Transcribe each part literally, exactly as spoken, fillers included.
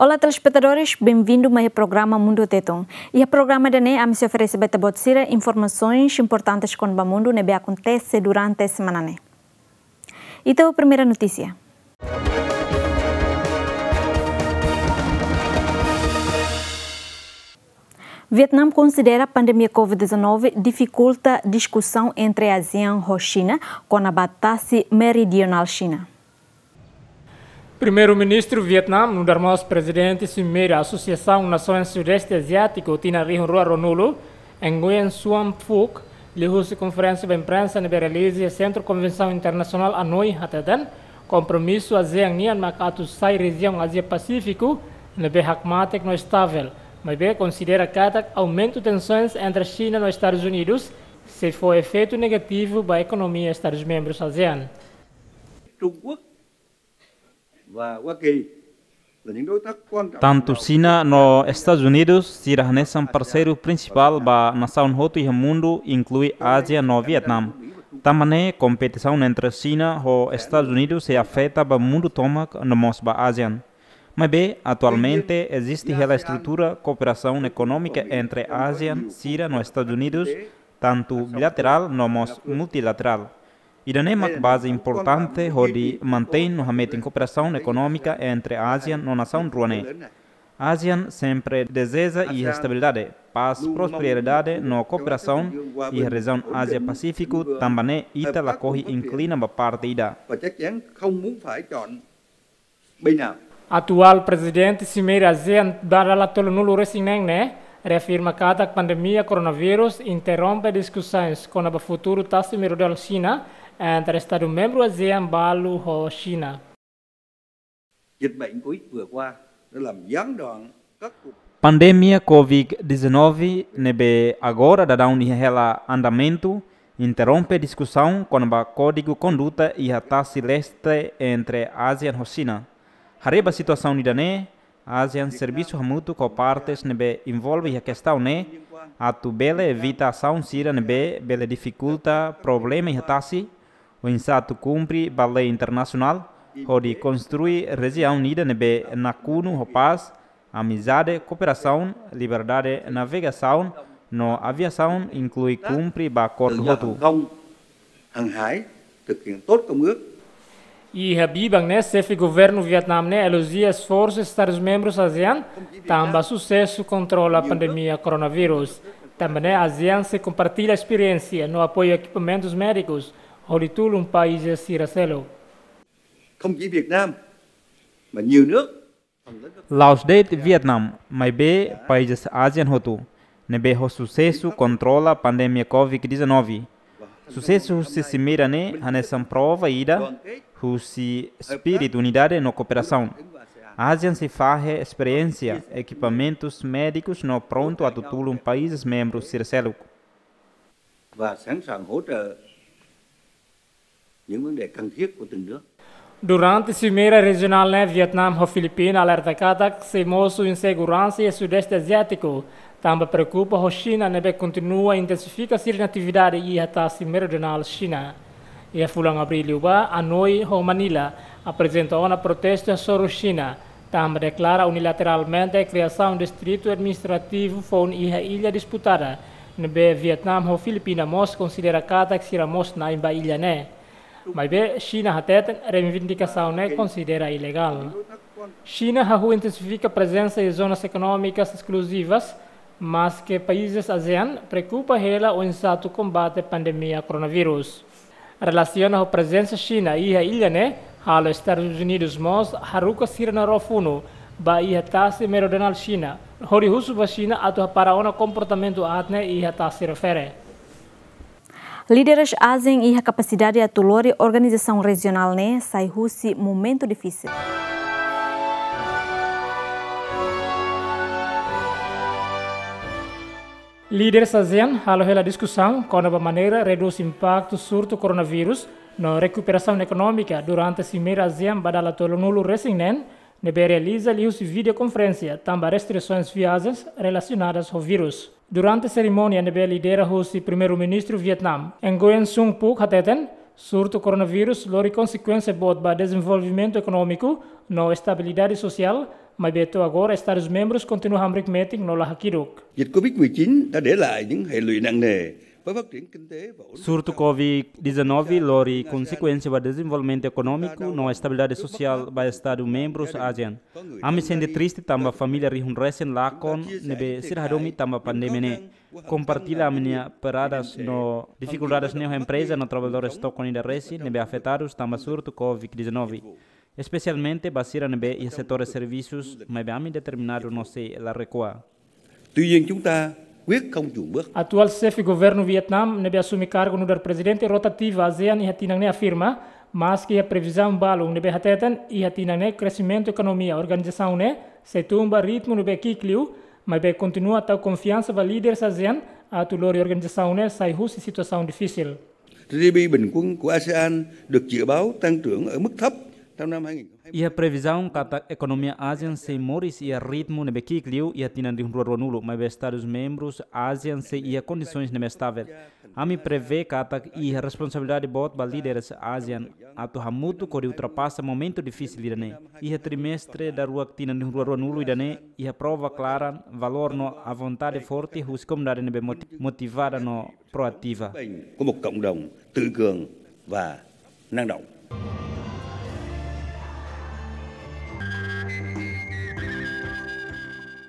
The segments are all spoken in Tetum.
Olá, telespetadores, benvindu mai iha programa Mundu Tetun. Iha programa ida-ne'e, ami sei oferese ba ita-boot sira informasaun importante kona-ba mundu ne'ebé akontese durante semana ne'e. Ita ba primeira notísia. Vietnam konsidera pandemia covid dezanove difikulta diskusaun entre ASEAN ho Xina kona-ba tasi meridionál Xina. Primeiru-Ministru Vietnam, nu'udar mós Prezidente Simeira Asosiasaun Nasoens Sudeste Aziátiku tinan rihun rua ruanulu, Nguyen Xuan Phuc, liuhusi konferénsia ba imprensa ne'ebé realiza iha Sentru Konvensaun Internasionál Hanoi, hateten, kompromisu ASEAN nian mak atu sai rejiaun Ázia Pasífiku ne'ebé hakmatek no estável, maibé konsidera katak aumentu tensoens entre Xina no Estadus Unidus sei fó efeitu negativu ba ekonomia Estadus membrus ASEAN. Trung Quốc và Hoa Kỳ là những đối tác quan trọng Tantu Xina no Estadus Unidus sira hanesan parseiru prinsipál ba nasaun hotu iha mundu, inklui Ázia no Vietnam. Tanba ne'e, kompetisaun entre Xina ho Estadus Unidus sei afeta ba mundu tomak no mós ba ASEAN. Maibé, atualmente, eziste hela estrutura kooperasaun ekonómika entre ASEAN sira no Estadus Unidus, tantu bilaterál no mós multilaterál. Ida-ne'e mak baze importante hodi mantein no hametin kooperasaun ekonómika entre ASEAN no nasaun rua ne'e. ASEAN sempre dezeja iha estabilidade, pás, prosperidade no kooperasaun iha rejiaun Ázia Pasífiku, tanba ne'e ita lakohi inklina ba parte ida. Và chắc chắn không muốn phải chọn bên nào. Atuál Prezidente Simeira ASEAN ba dala tolunulu-resin-neen ne'e reafirma katak pandemia koronavírus interrompe diskusoens kona-ba futuru tasi meridionál Xina entre Estadu membru ASEAN balu ho Xina. Dịch bệnh covid vừa qua đã làm gián đoạn các cuộc Pandemia covid dezanove ne'ebé agora daudaun iha hela andamentu interrompe diskusaun kona-ba kódigu konduta iha tasi leste entre ASEAN ho Xina. Haree ba situasaun ida-ne'e, ASEAN servisu hamutuk ho partes ne'ebé envolve iha kestaun ne'e atu bele evita asaun sira ne'ebé bele difikulta problema iha tasi, oinsá atu kumpre ba lei internasionál hodi konstrui rejiaun ida ne'ebé nakonu ho pás, amizade, kooperasaun, liberdade navegasaun no aviasaun, inklui kumpre ba akordu hotu. Hàng hải, thực hiện tốt công ước. Iha biban ne'e, xefe governu Vietnam ne'e elojia esforsu Estadus membrus ASEAN tanba susesu kontrola pandemia koronavírus. Tanba ne'e ASEAN sei kompartilla esperiénsia no apoiu ekipamentus médikus hodi tulun país sira seluk. Không chỉ Việt Nam mà nhiều nước La'ós de'it Vietnam, maibé países ASEAN hotu, ne'ebé ho susesu kontrola pandemia covid dezanove. Susesu husi simeira ne'e hanesan prova ida husi espíritu unidade no kooperasaun. ASEAN sei fahe esperiénsia, ekipamentus médikus no prontu atu tulun países membrus sira seluk. Và sẵn sàng hỗ trợ những vấn đề cần thiết của từng nước. Durante simeira rejionál ne'e, Vietnam ho Filipina alerta katak sei mosu inseguransa iha Sudeste Aziátiku, tanba preokupa ho Xina ne'ebé kontinua intensifika sira-nia atividade iha tasi meridionál Xina. Iha fulan Abríl liubá, Hanoi ho Manila aprezenta ona protestu hasoru Xina, tanba deklara unilateralmente kriasaun distritu administrativu foun iha illa disputada, ne'ebé Vietnam ho Filipina mós konsidera katak sira mós na'in ba illa ne'e. Maibé Xina hateten reivindikasaun ne'e konsidera ilegál. Xina hahú intensifika prezensa iha zonas ekonómikas eskluzivas, maske países ASEAN preokupa hela oinsá atu kombate pandemia koronavírus. Relasiona ho prezensa Xina iha illa ne'e, halo Estadus Unidus mós haruka sira-nia ró funu ba iha tasi meridionál Xina, hodi husu ba Xina atu hapara ona komportamentu aat ne'e iha tasi refere. Líderes ASEAN iha kapasidade atu lori organizasaun rejionál ne'e sai husi momentu difisil. Líderes ASEAN halo hela diskusaun kona-ba maneira redús impaktu surtu koronavírus no rekuperasaun ekonómika durante simeira ASEAN ba dala tolunulu-resin-neen, ne'ebé realiza liuhusi videokonferénsia tanba restrisoens viajens relasionadas ho vírus. Durante serimónia ne'ebé lidera husi Primeiru-Ministru Vietnam, Nguyen Xuan Phuc hateten, surtu koronavírus lori konsekuénsia boot ba dezenvolvimentu ekonómiku no estabilidade sosiál, Maibé to'o agora Estadus membrus kontinua hamriik metin no la hakiduk. Dịch Covid mười chín đã để lại những hệ lụy nặng nề với phát triển kinh tế và ổn định. Surtu Covid dezanove lori konsekuénsia ba dezenvolvimentu ekonómiku no estabilidade sosiál ba Estadu membrus ASEAN. Ami sente triste tanba família rihun resin lakon ne'ebé sira hadomi tanba pandemia ne'e. Kompartilla ami-nia perdas no difikuldades ne'e ho empreza no traballadór tokon ida resin ne'ebé afetadus tanba surtu Covid dezanove. Espesialmente ba sira ne'ebé iha setór servisus, maibé ami determinadu no sei la rekua. Tuy nhiên chúng ta quyết không chùn bước. Atuál xefe governu Vietnam ne'ebé asume kargu nu'udar prezidente rotativu ASEAN iha tinan ne'e afirma, maski iha previzaun balun ne'ebé hateten iha tinan ne'e kresimentu ekonomia organizasaun ne'e sei tun ba ritmu ne'ebé ki'ik liu, maibé kontinua tau konfiansa ba líderes ASEAN atu lori organizasaun ne'e sai husi situasaun difisil. G D P bình quân của ASEAN được dự báo tăng trưởng ở mức thấp trong năm hai nghìn hai mươi. Iha previzaun katak ekonomia ASEAN sei moris iha ritmu ne'ebé ki'ik liu iha tinan rihun rua ruanulu, maibé Estadus membrus ASEAN sei iha kondisoens ne'ebé estável. Ami prevee katak iha responsabilidade boot ba líderes ASEAN atu hamutuk hodi ultrapasa momentu difisil ida-ne'e. Iha trimestre daruak tinan rihun rua ruanulu ida-ne'e, iha prova klaran, valór no vontade forte husi komunidade ne'ebé moti-, motivada no proativa. Bệnh của một cộng đồng tự cường và năng động.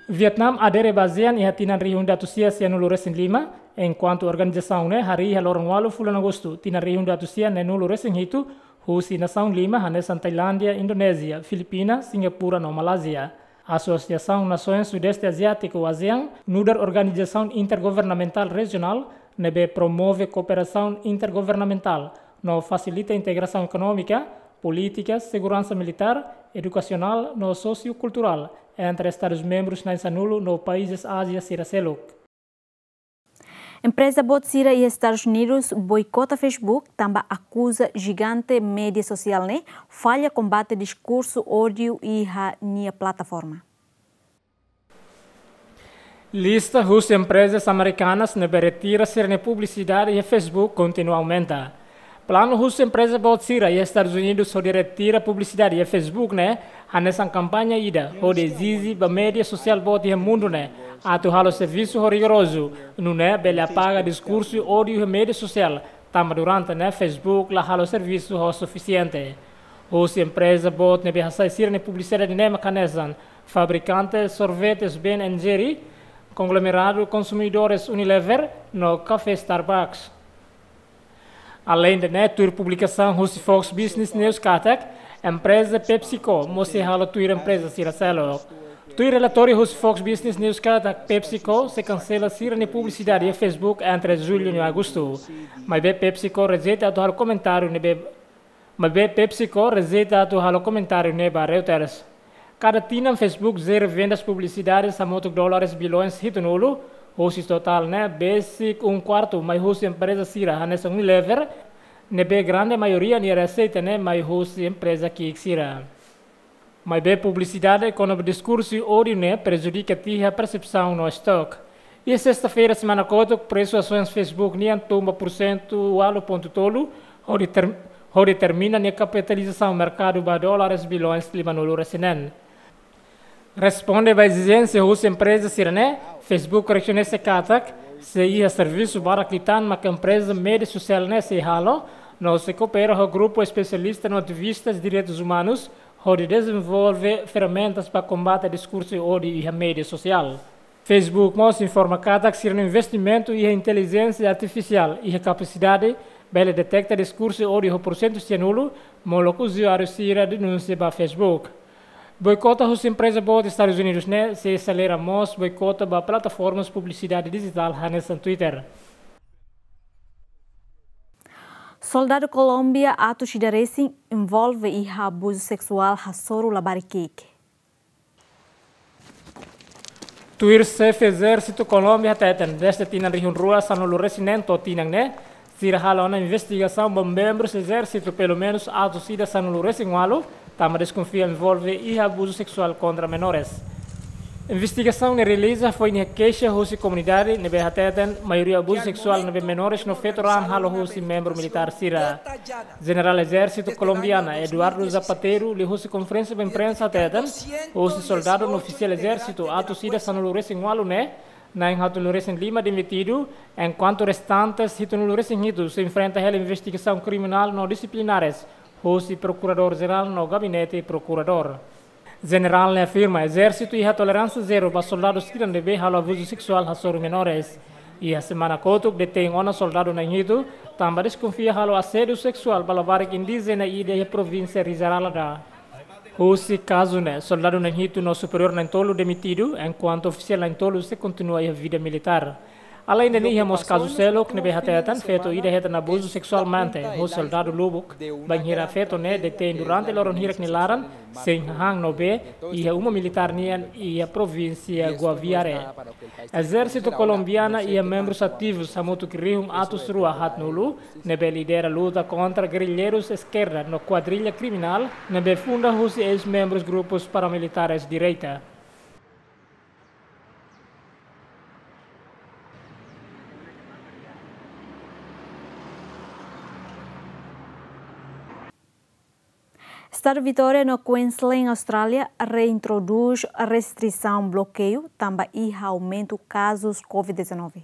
Vietnam adere ba ASEAN iha tinan rihun ida atus sia sianulu resin lima, enkuantu organizasaun ne'e harii iha loron ualu fulan Agostu, tinan rihun ida atus sia neenulu resin hitu, husi nasaun lima hanesan Tailándia, Indonézia, Filipina, Singapura no Malázia. Asosiasaun Nasoens Sudeste Aziátiku, ASEAN, nu'udar organizasaun intergovernamentál rejionál ne'ebé promove kooperasaun intergovernamentál no fasilita integrasaun ekonómika, polítika, seguransa militár, edukasionál no sosiokulturál entre Estadus membrus na'in-sanulu no países Ázia sira seluk. Empreza boot sira iha Estadus Unidus boikota Facebook tanba akuza jigante média sosiál ne'e falla kombate diskursu ódiu iha nia plataforma. Lista husi emprezas amerikanas ne'ebé retira sira-nia publisidade iha Facebook kontinua aumenta. Planu husi empreza boot sira iha Estadus Unidus hodi retira publisidade iha Facebook ne'e hanesan kampaña ida hodi ezije ba média sosiál boot iha mundu ne'e atu halo servisu ho rigorozu, nune'e bele apaga diskursu ódiu iha média sosiál, tanba durante ne'e Facebook la halo servisu ho sufisiente. Husi empreza boot ne'ebé hasai sira-nia publisidade ne'e mak hanesan fabrikante sorvetes Ben and Jerry, konglomeradu konsumidores Unilever, no kafé Starbucks. Aleinde ne'e, tuir publikasaun husi Fox Business News katak, empreza PepsiCo mós sei halo tuir empreza sira seluk. Tuir relatóriu husi Fox Business News katak, PepsiCo sei kansela sira-nia publisidade iha Facebook entre jullu no agostu. Maibé PepsiCo rejeita atu halo komentáriu ne'ebé Maibé PepsiCo rejeita atu halo komentáriu ne'e ba Reuters. Kada tinan Facebook jere vendas publisidade hamutuk dólares bilhões hitunulu, husi totál ne'e besik um quarto mai husi empreza sira hanesan Unilever, ne'ebé grande maioria nia reseita ne'e mai husi empreza ki'ik sira. Maibé publisidade kona-ba diskursu ódiu ne'e prejudika tiha persepsaun no estok. Iha sesta-feira semana kotuk, presu asoens Facebook nian tun ba pursentu ualu pontu tolu, hodi ter-, hodi termina nia kapitalizasaun merkadu ba dólares bilhões limanulu resin neen. Responde ba ezijénsia husi empreza sira-ne'e, Facebook rekoñese katak, sei iha servisu barak liután mak empreza média sosiál ne'e sei halo, no sei koopera ho grupu espesialista no ativistas direitus umanus, hodi dezenvolve ferramentas ba kombate diskursu ódiu iha média sosiál. Facebook mós informa katak sira-nia investimentu iha intelijénsia artifisiál iha kapasidade bele deteta diskursu ódiu ho pursentu sianulu, molok uzuáriu sira denunsia ba Facebook. Boikota husi empreza boot Estadus Unidus ne'e sei aselera mós boikota ba plataformas publisidade dijitál hanesan Twitter. Soldadu Kolómbia atus ida resin envolve iha abuzu seksuál hasoru labarik ki'ik. Tuir xefe ezérsitu Kolómbia hateten, dezde tinan rihun rua sanulu resin neen to'o tinan ne'e, sira halo ona investigasaun ba membrus ezérsitu pelumenus atus ida sanulu resin ualu, tanba deskonfia envolve iha abuzu seksuál kontra menores. Investigasaun ne'e realiza foin iha keixa husi komunidade ne'ebé hateten maioria abuzu seksuál ne'ebé menores no feto-raan halo husi membru militár sira. Jenerál Ezérsitu Kolombiana Eduardo Zapatero liuhusi konferénsia ba imprensa hateten, husi soldadu no ofisiál ezérsitu atus ida sanulu-resin-ualu ne'e, na'in haatnulu-resin-lima demitidu, enkuantu restantes hitunulu-resin-hitu sei enfrenta hela investigasaun kriminál no disiplinares husi Prokuradór Jerál no Gabinete Prokuradór. Jenerál ne'e afirma ezérsitu iha toleránsia zero ba soldadu sira ne'ebé halo abuzu seksuál hasoru menores. Iha semana kotuk detein ona soldadu na'in hitu, tanba deskonfia halo asédiu seksuál ba labarik indíjena ida iha provínsia Risaralda. Husi kazu ne'e, soldadu na'in hitu no superiór na'in tolu demitidu, enkuantu ofisiál na'in tolu sei kontinua iha vida militár. Alende ne'e iha mós kazu seluk ne'ebé hateten feto ida hetan abuzu seksualmente husi soldadu lubuk, bainhira feto ne'e detein durante loron hirak nia laran, sein hahán no bee, iha uma militár nian iha provínsia Guaviare. Ezérsitu Kolombiana iha membrus ativus hamutuk rihun atus rua haatnulu, ne'ebé lidera luta kontra gerrilleirus eskerda no kuadrilla kriminál, ne'ebé funda husi eis-membrus grupus paramilitares direita. Estadu Vitória no Queensland, Austrália, reintrodús restrisaun blokeiu tanba iha aumentu kazus covid dezanove.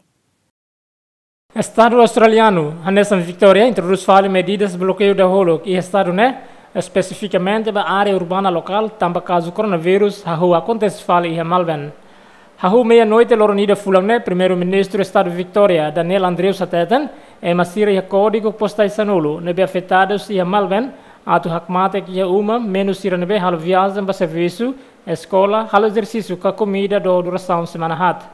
Estadu australianu, hanesan Vitória, introdús fali medidas blokeiu dahuluk iha estadu ne'e, espesifikamente ba área urbana lokál, tanba kazu koronavírus hahú akontese fali iha Melbourne. Hahú meia-noite loron ida fulan ne'e, Primeiru-Ministru Estadu Vitória, Daniel Andrews hateten, ema sira iha kódigu postais sanulu ne'ebé afetadus iha Melbourne atu hakmatek iha uma, menus sira ne'ebé halo viajen ba servisu, eskola, halo ezersísiu ka komida do durasaun semana haat.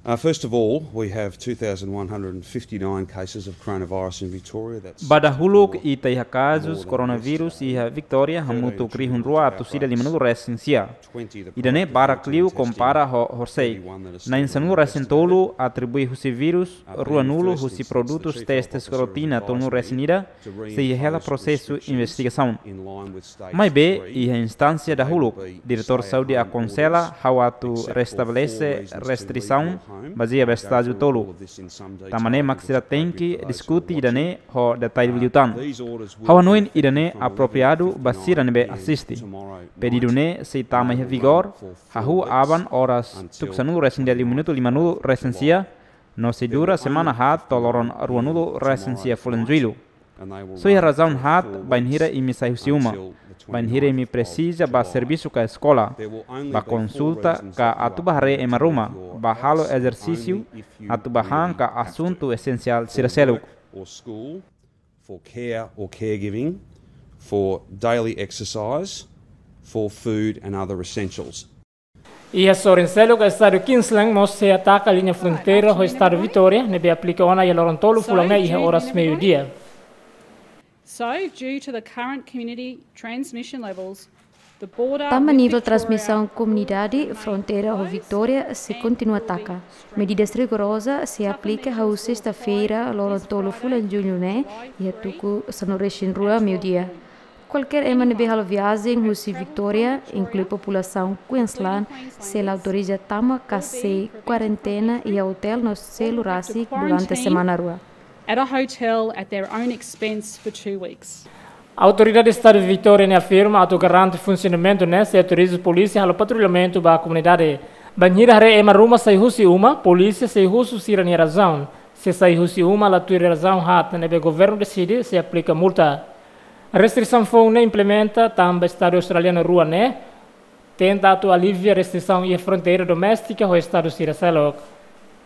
Uh, first of all, we have two thousand one hundred fifty-nine cases of coronavirus in Victoria. That's Ba dahuluk, more ita iha kazus than koronavírus iha Vitória hamutuk rihun rua atus ida limanulu-resin-sia. Ida-ne'e barak liu kompara ho horisehik. Na'in sanulu-resin-tolu atribui husi vírus, ruanulu husi produtus testes rotina tolunulu-resin-ida, sei iha hela prosesu investigasaun. Maibé, iha instánsia dahuluk, Diretór Saúde akonsela ha'u atu restabelese restrisaun bazeia ba estájiu tolu. Tanba ne'e mak sira tenke diskute ida-ne'e ho detalle liután. Ha'u hanoin ida-ne'e apropriadu ba sira ne'ebé asiste. Pedidu ne'e sei tama iha vigór, hahú aban oras tuku sanulu-resin-ida liu minutu limanulu-resin-sia, no sei dura semana haat to'o loron ruanulu-resin-sia fulan Jullu. Só iha razaun haat bainhira imi sai husi uma, bainhira imi presiza ba servisu ka eskola, ba konsulta ka atu ba haree ema ruma, ba halo ezersísiu, atu ba han ka asuntu esensiál sira seluk. Or school, for care or caregiving, for daily exercise, for food and other essentials. Iha sorin seluk, Estadu Queensland mós sei ataka liña fronteira ho Estadu Vitória, ne'ebé aplika ona iha loron tolu fulan ne'e iha oras meiudia. So, due to the current community transmission levels, the border with Victoria Tanba nivel transmisaun komunidade, fronteira ho Vitória sei kontinua taka. Medidas rigoroza sei aplika hahú sesta-feira, loron tolu fulan Jullu ne'e, iha tuku sanulu-resin-rua meiudia. Kualkér ema ne'ebé halo viajen husi Vitória, inklui populasaun Queensland, sei la autoriza tama ka sei kuarentena iha otél no selu rasik durante semana rua. At a hotel at their own expense for two weeks. Autoridade Estadu Vitória ne'e afirma atu garante funsionamentu ne'e sei autoriza polísia halo patrullamentu ba komunidade. Bainhira haree ema ruma sai husi uma, polísia sei husu sira-nia razaun. Se sai husi uma la tuir razaun haat ne'ebé governu deside, sei aplika multa. Restrisaun foun ne'e implementa tanba Estadu australianu rua ne'e tenta atu alivia restrisaun iha fronteira doméstika ho estadu sira seluk.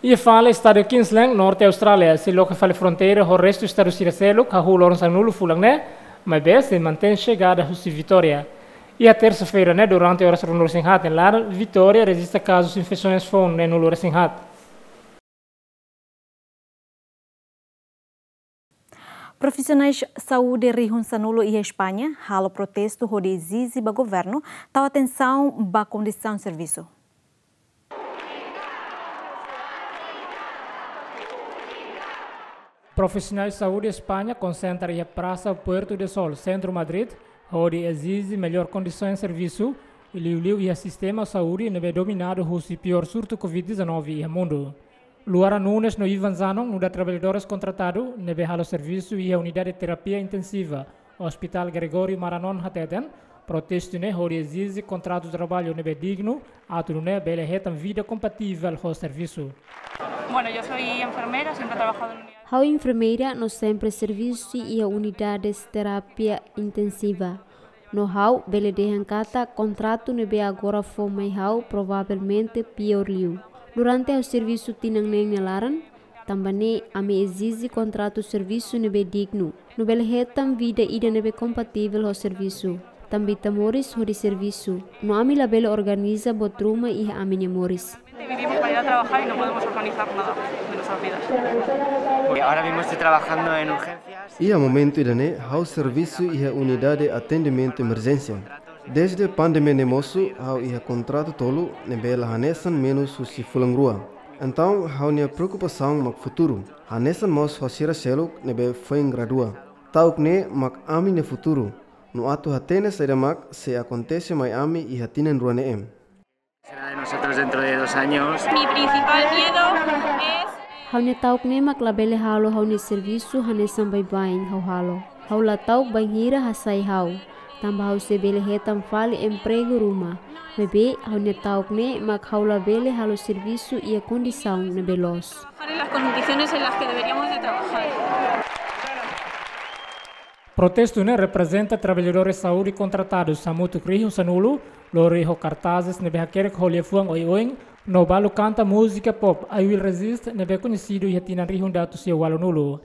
Iha fali, Estadu Queensland, Norte Austrália, sei loke fali fronteira ho restu estadu sira seluk hahú loron sanulu fulan ne'e, maibé sei mantein xegada husi Vitória. Iha tersa-feira ne'e, durante oras ruanulu-resin-haat nia laran, Vitória rejista kazus infesaun foun neenulu-resin-haat. Profisionais saúde rihun sanulu iha España halo protestu hodi ezije ba governu tau atensaun ba kondisaun servisu. Profisionais saúde España konsentra iha Prasa Puerta do Sol, sentru Madrid, hodi ezije mellór kondisaun servisu, liuliu iha sistema saúde ne'ebé dominadu husi piór surtu Covid dezanove iha mundu. Luara Nunes no Ivan Zanon nu'udar traballadores kontratadu ne'ebé halo servisu iha unidade terapia intensiva Hospital Gregório Maranon hateten, protestu ne'e hodi ezije kontratu traballu ne'ebé dignu, atu nune'e bele hetan vida kompativel ho servisu. Bueno, yo soy enfermera, siempre he trabajado en unidades. Ha'u enfermeira no sempre servisu iha unidades terapia intensiva. No ha'u bele dehan katak kontratu ne'ebé agora fó mai ha'u provavelmente piór liu. Durante ha'u servisu tinan neen nia laran, tanba ne'e ami ezije kontratu servisu ne'ebé dignu, no bele hetan vida ida ne'ebé kompativel ho servisu. Tanba ita moris hodi servisu, no ami labele organiza buat ruma iha ami-nia moris. Vivimos para ir a trabajar y no podemos organizar nada de nuestras vidas. Y ahora mismo estoy trabajando en urgencias. Iha momentu ida-ne'e, ha'u servisu iha unidade atendimentu emerjénsia. Desde pandemia ne'e mosu, ha'u iha kontratu tolu ne'ebé la hanesan menus husi fulan rua. Entaun, ha'u-nia preokupasaun mak futuru. Hanesan mós ho sira seluk ne'ebé foin gradua. Ta'uk ne'e mak ami-nia futuru. No atu hatene saida mak sei akontese mai ami iha tinan rua ne'e. Será de nosotros dentro de dos años. Mi principal miedo es... Ha'u-nia ta'uk ne'e mak labele halo ha'u-nia servisu hanesan baibain ha'u halo. Ha'u la ta'uk bainhira hasai ha'u, tanba ha'u sei bele hetan fali empregu ruma. Maibé ha'u-nia ta'uk ne'e mak ha'u labele halo servisu iha kondisaun ne'ebé loos. Trabajar en las condiciones en las que deberíamos de trabajar. Protestu ne'e reprezenta traballadores saúde kontratadus hamutuk rihun sanulu, lori ho kartazes ne'ebé hakerek ho liafuan oioin, no balu kanta múzika pop I Will Resist ne'ebé koñesidu iha tinan rihun ida atus sia ualunulu.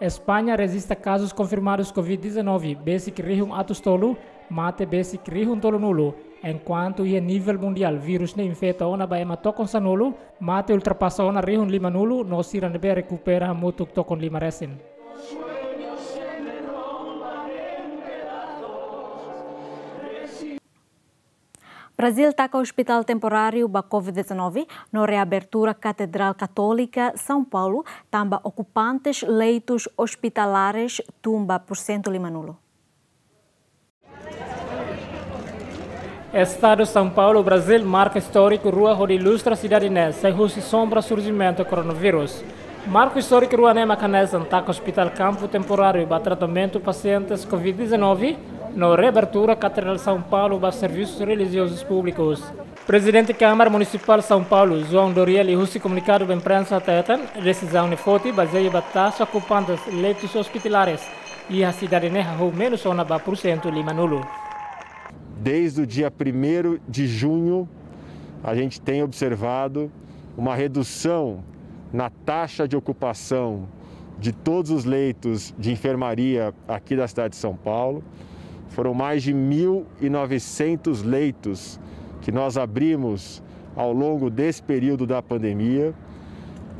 España rejista kazus konfirmadus Covid dezanove besik rihun atus tolu, mate besik rihun tolunulu, enkuantu iha nivel mundiál vírus ne'e infeta ona ba ema tokon sanulu, mate ultrapasa ona rihun limanulu, no sira ne'ebé rekupera hamutuk tokon lima resin. Brazil taka ospitál temporáriu ba Covid dezanove no reabertura Katedrál Katólika São Paulo, tanba okupantes leitus ospitalares tun ba porsentu limanulu. Estadu São Paulo, Brazil, marka istóriku rua hodi ilustra sidade ne'e sai husi sombra surjimentu koronavírus. Marku istóriku rua ne'e mak hanesan taka ospitál kampu temporáriu ba tratamentu pasientes Covid dezanove, no reabertura Katedrál São Paulo ba servisus relijiozus públikus. Prezidente Kámara Munisipál São Paulo, João Doriel, liuhusi komunikadu ba imprensa hateten, desizaun ne'e foti bazeia ba taxa okupantes leitus ospitalares iha sidade ne'e hahú menus ona ba porsentu limanulu. Desde o dia primeiro de junho, a gente tem observado uma redução na taxa de ocupação de todos os leitos de enfermaria aqui da cidade de São Paulo. Foram mais de mil e novecentos leitos que nós abrimos ao longo desse período da pandemia.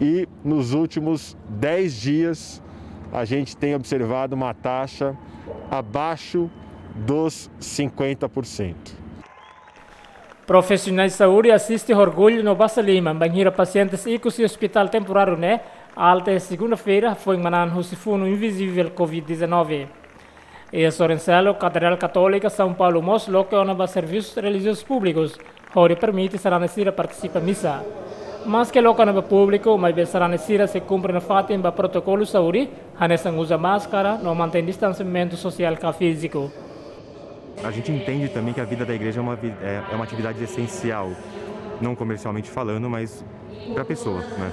E nos últimos dez dias, a gente tem observado uma taxa abaixo dos cinquenta por cento. Profisionais saúde asiste ho orgullu no basa liman bainhira pasientes ikus iha ospitál temporáriu ne'e alta iha segunda-feira, foin manán husi funu invizivel Covid dezanove. Iha sorin seluk, Katedrál Katólika São Paulo mós loke ona ba servisus relijiozus públikus, hodi permite sarani sira partisipa misa. Maske loke ona ba públiku, maibé sarani sira sei kumpre nafatin ba protokolu saúde, hanesan uza máskara no mantein distansiamentu sosiál ka fíziku. A gente entende também que a vida da igreja é uma vi-, é, é uma atividade essencial, não comercialmente falando, mas pra pessoa, né?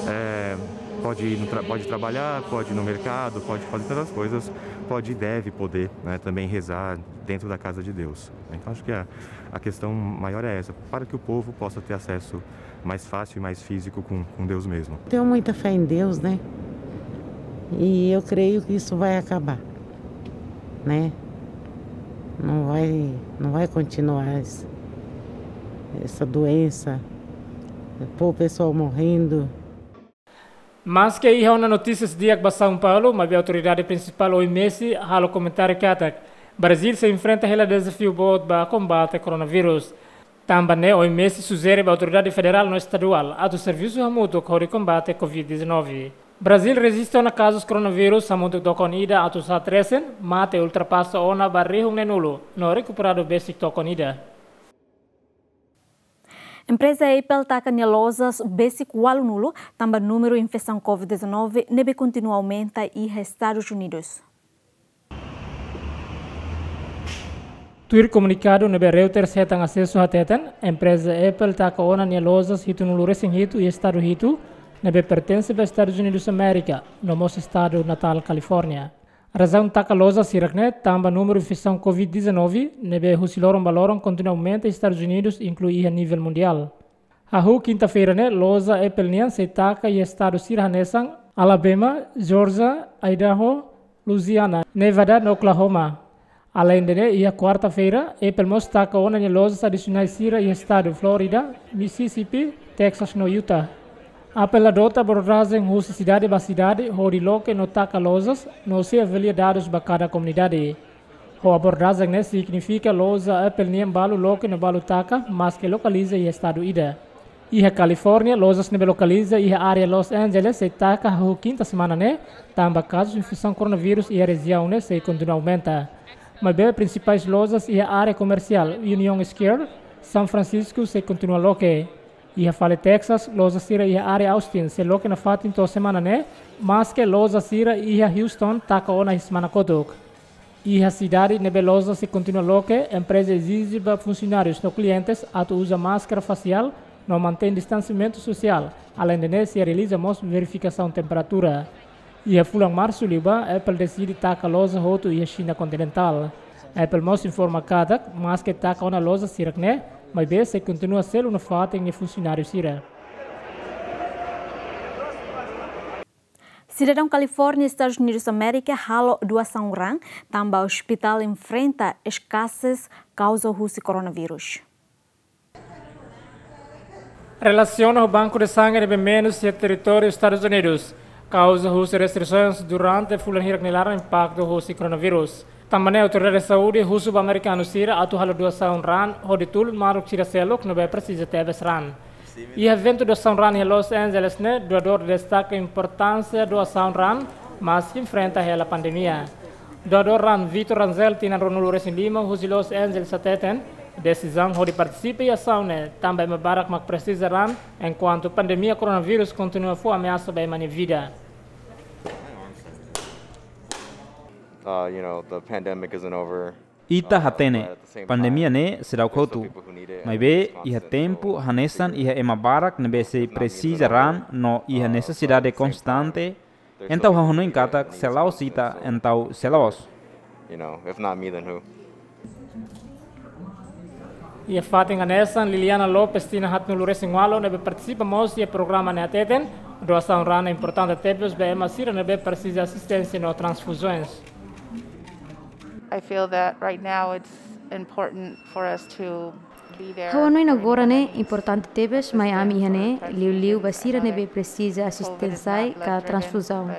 É, pode ir no tra-, pode trabalhar, pode ir no mercado, pode fazer tantas coisas, pode e deve poder, né, também rezar dentro da casa de Deus. Então, acho que a, a questão maior é essa, para que o povo possa ter acesso mais fácil e mais físico com, com Deus mesmo. Tenho muita fé em Deus, né? E eu creio que isso vai acabar, né? Não vai, não vai continuar essa, essa doença. O povo, pessoal morrendo. Maske iha ona notísias di'ak ba São Paulo, maibé autoridade prinsipál O M S halo komentáriu katak Brazil sei enfrenta hela dezafiu boot ba kombate koronavírus. Tanba ne'e O M S sujere ba autoridade federál no estaduál atu servisu hamutuk hodi kombate Covid dezanove. Brazil rejista ona kazus koronavírus hamutuk tokon ida atus haat resin, mate ultrapasa ona ba rihun neenulu, no rekuperadu besik tokon ida. Empreza Apple taka nia lojas besik ualunulu, tanba númeru infesaun covid dezanove ne'ebé kontinua aumenta iha Estadus Unidus. Tuir komunikadu ne'ebé Reuters hetan asesu hateten, empreza Apple taka ona nia lojas hitunulu resin hitu iha estadu hitu, ne'ebé pertense ba Estadus Unidus Amérika, no mós estadu natál Kalifórnia. Razaun taka lojas hirak-ne'e tanba númeru infesaun covid dezanove, ne'ebé husi loron ba loron kontinua aumenta iha Estadus Unidus, inklui iha nivel mundiál. Hahú kinta-feira ne'e, loja Apple nian sei taka iha estadu sira hanesan Alabama, Georgia, Idaho, Louisiana, Nevada no Oklahoma. Aleinde ne'e, iha kuarta-feira, Apple mós taka ona nia lojas adisionais sira iha estadu Flórida, Mississippi, Texas no Utah. Apple adota abordajen husi sidade ba sidade, hodi loke no taka lojas, no sei avalia dadus ba kada komunidade. Ho abordajen ne'e signifika loja Apple nian balu loke no balu taka, maske lokaliza iha estadu ida. Iha Kalifórnia, lojas ne'ebé lokaliza iha área Los Angeles sei taka hahú kinta semana ne'e, tanba kazus infesaun koronavírus iha rejiaun ne'e sei kontinua aumenta. Maibé prinsipais lojas iha área komersiál Union Square, São Francisco sei kontinua loke. Iha fali Texas, loja sira iha área Austin sei loke nafatin to'o semana ne'e, maske loja sira iha Houston taka ona iha semana kotuk. Iha sidade ne'ebé loja sei kontinua loke, empreza ezije ba funsionárius no klientes atu uza máskara fasiál no mantein distansiamentu sosiál, aleinde ne'e sei realiza mós verifikasaun temperatura. Iha fulan Marsu liubá, Apple deside taka loja hotu iha Xina kontinentál. Apple mós informa katak, maske taka ona loja hirak-ne'e, maibé sei kontinua selu nafatin nia funsionáriu sira. Sidadaun Kalifórnia, Estadus Unidus Amérika, halo doasaun raan, tanba ospitál enfrenta eskasez kauza husi koronavírus. Relasiona ho banku de sangre ne'ebé menus iha territóriu Estadus Unidus, kauza husi restrisaun durante fulan hirak nia laran impaktu husi koronavírus. Tanba ne'e autoridade saúde husu ba amerikanu sira atu halo doasaun raan hodi tulun maluk sira seluk ne'ebé presiza tebes raan. Iha eventu doasaun raan iha Los Angeles ne'e, doadór destaka importánsia doasaun raan, maske enfrenta hela pandemia. Doadór raan Victor Rangel, tinan ruanulu resin lima, husi Los Angeles hateten, desizaun hodi partisipa iha asaun ne'e tanba ema barak mak presiza raan, enkuantu pandemia koronavírus kontinua fó ameasa ba ema nia vida. Uh, you know, the pandemic isn't over. Ita hatene, pandemia ne'e seidauk hotu. Maibé, iha tempu hanesan iha ema barak ne'ebé sei presiza raan no iha nesesidade konstante, entaun ha'u hanoin katak se la'ós ita, entaun sé loos. You know, if not me, then who? Iha fatin hanesan, Liliana Lopes, tinan haatnulu resin ualu, ne'ebé partisipa mós iha programa ne'e hateten, doasaun raan ne'e importante tebes ba ema sira ne'ebé presiza asisténsia no transfuzaun. I feel that right now it's important for us to be there. Ha'u hanoin agora ne'e importante tebes mai ami iha ne'e, liuliu ba sira ne'ebé presiza asisténsia ka transfuzaun.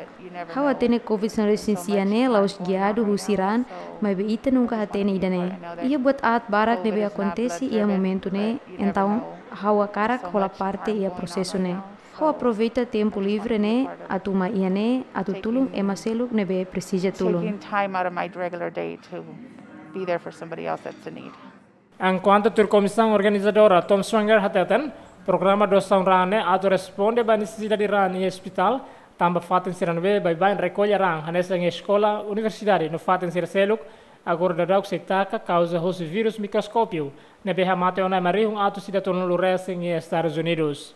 Ha'u hatene covid sanulu resin sia ne'e la'ós giadu husi raan, maibé ita nunka hatene ida-ne'e. Iha buat aat barak ne'ebé akontese iha momentu ne'e, entaun ha'u hakarak hola parte iha prosesu ne'e. Ha'u aproveita tempu livre ne'e atu mai iha ne'e atu tulun ema seluk ne'ebé presiza tulun. Taking time out of my regular day to be there for somebody else that's in need. Enkuantu tuir komisaun organizadora Tom Schwenger hateten, programa doasaun raan ne'e atu responde ba nesesidade raan iha ospitál, tanba fatin sira ne'ebé baibain rekolla raan, hanesan iha eskola, universidade no fatin sira seluk, agora daudauk sei taka kauza husi vírus mikroskópiu, ne'ebé hamate ona ema rihun atus ida tolunulu resin iha Estadus Unidus.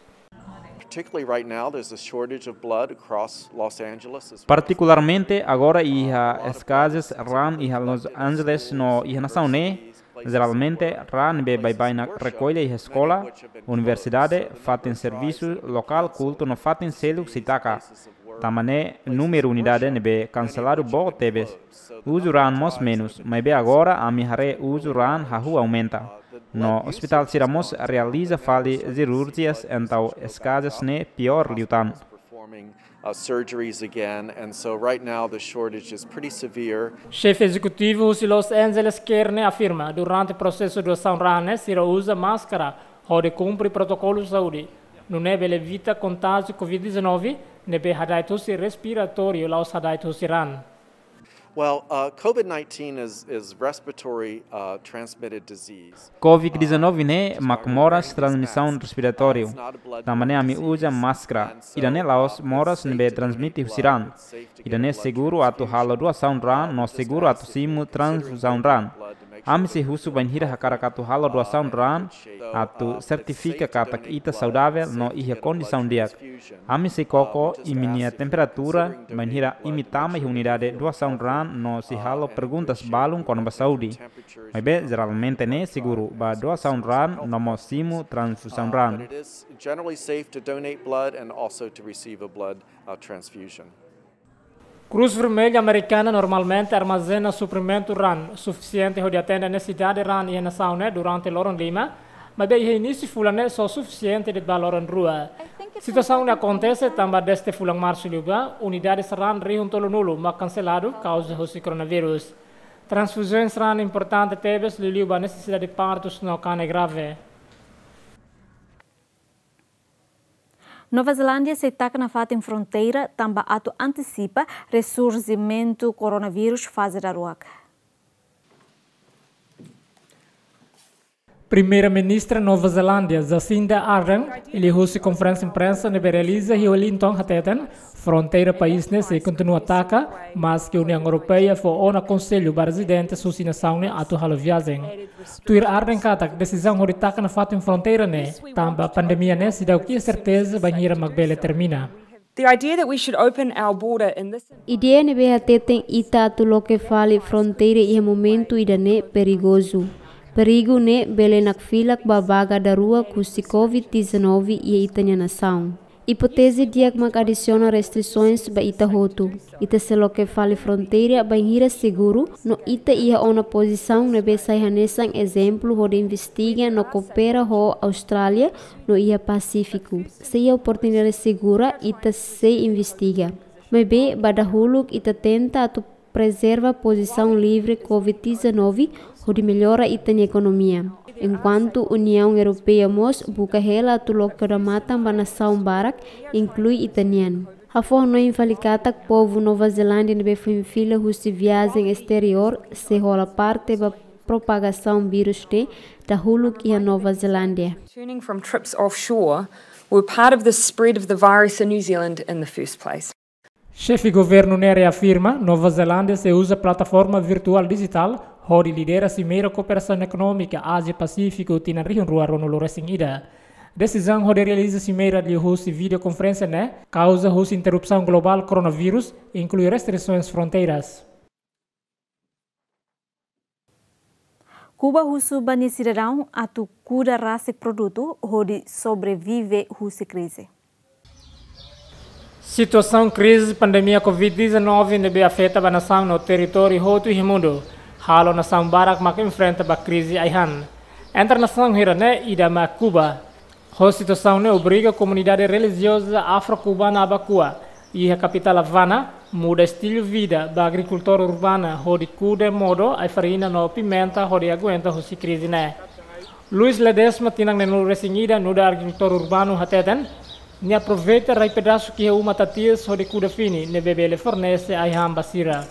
Particularly right now, there's a shortage of blood across Los Angeles as well. Partikularmente, agora iha eskazes raan iha Los Angeles no iha nasaun ne'e. Jeralmente, raan ne'ebé baibain rekolla iha eskola, universidade, fatin servisu, lokál kultu no fatin seluk sei taka. Tanba ne'e, númeru unidade ne'ebé kanseladu boot tebes. Uzu raan mós menus, maibé agora ami haree uzu raan hahú aumenta. No ospitál sira mós realiza fali sirurjias, entaun eskazes ne'e piór liután. Performing, uh, surgeries again, and so right now the shortage is pretty severe. Xefe ezekutivu husi Los Angeles Care ne'e afirma, durante prosesu doasaun raan ne'e sira uza máskara hodi kumpre protokolu saúde. Nune'e bele evita kontájiu COVID dezanove, ne'ebé hada'et husi respiratóriu, la'ós hada'et husi raan. Well, uh, COVID nineteen is, is respiratory, uh, transmitted disease. COVID dezanove ne'e mak moras transmisaun respiratóriu. Tanba ne'e ami uza máskara. Ida-ne'e la'ós moras ne'ebé transmite husi raan. Ida-ne'e seguru atu halo doasaun raan no seguru atu simu transfuzaun raan. Ami sei husu bainhira hakarak atu halo doasaun raan, atu sertifika katak ita saudavel no iha kondisaun di'ak. Ami sei koko imi-nia temperatura bainhira imi tama iha unidade doasaun raan no sei halo perguntas balun kona-ba saúde. Maibé, jeralmente ne'e seguru ba doasaun raan no mós simu transfuzaun raan. Generally safe to donate blood and also to receive a blood, uh, transfusion. Cruz Vermelha Americana normalmente armazena suprimentu raan sufisiente hodi atende nesesidade raan iha nasaun ne'e durante loron lima, maibé iha inísiu fulan ne'e só sufisiente de'it ba loron rua. Situasaun ne'e akontese tanba dezde fulan Marsu liubá, unidades raan rihun tolunulu mak kanseladu kauza husi koronavírus. Transfuzaun raan importante tebes liuliu ba nesesidade partus no kanek grave. Nova Zelándia sei taka nafatin fronteira tanba atu antisipa resurjimentu koronavírus faze daruak. Primeira-Ministra Nova Zelándia, Jacinda Ardern, liuhusi konferénsia imprensa ne'ebé realiza iha Wellington hateten, fronteira país ne'e sei kontinua taka, maske Uniaun Europeia fó ona konsellu ba rezidentes husi nasaun ne'e atu halo viajen. Tuir Ardern katak desizaun hodi taka nafatin fronteira ne'e, tanba pandemia ne'e seidauk iha serteza bainhira mak bele termina. The idea that we should open our border in this Ideia ne'ebé hateten ita atu loke fali fronteira iha momentu ida-ne'e perigozu. Perigu ne'e bele nakfilak ba vaga daruak husi COVID dezanove iha ita-nia nasaun. Ipóteze di'ak mak adisiona restrisoens ba ita hotu. Ita sei loke fali fronteira bainhira seguru, no ita iha ona pozisaun ne'ebé sai hanesan ezemplu hodi investiga no koopera ho Austrália no iha Pasífiku. Se iha oportunidade segura, ita sei investiga. Maibé, ba dahuluk ita tenta atu prezerva pozisaun livre COVID dezanove hodi mellora ita-nia ekonomia. Enkuantu Uniaun Europeia mós buka hela atu loke odamatan ba nasaun barak, inklui ita-nian. Ha'u fó hanoin fali katak povu Nova Zelándia ne'ebé foin fila husi viajen esteriór sei hola parte ba propagasaun vírus ne'e dahuluk iha Nova Zelándia. Returning from trips offshore were part of the spread of the virus in New Zealand in the first place. Xefe governu ne'e reafirma, Nova Zelándia sei uza plataforma virtuál dijitál hodi lidera Simeira Kooperasaun Ekonómika Ázia-Pasífiku tinan rihun rua ruanulu resin ida. Desizaun hodi realiza simeira liuhusi videokonferénsia ne'e kauza husi interrupsaun globál koronavírus, inklui restrisoens fronteiras. Kuba husu ba nia sidadaun atu kuda rasik produtu hodi sobrevive husi krize. Situasaun krize pandemia COVID dezanove ne'ebé afeta ba nasaun no territóriu hotu iha mundu, halo nasaun barak mak enfrenta ba krize ai-han. Entre nasaun hirak ne'e ida mak Kuba. Ho situasaun ne'e obriga komunidade relijioza afro-kubana Abakua, iha kapitál Havana, muda estilu vida ba agrikultór urbana hodi kuda modo ai-farina no pimenta hodi aguenta husi krize ne'e. Luis Ledesma, tinan neenulu resin ida, nu'udar agrikultór urbanu hateten, nia aproveita rai pedasuk iha uma tatias hodi kuda fini ne'ebé bele fornese ai-han ba sira.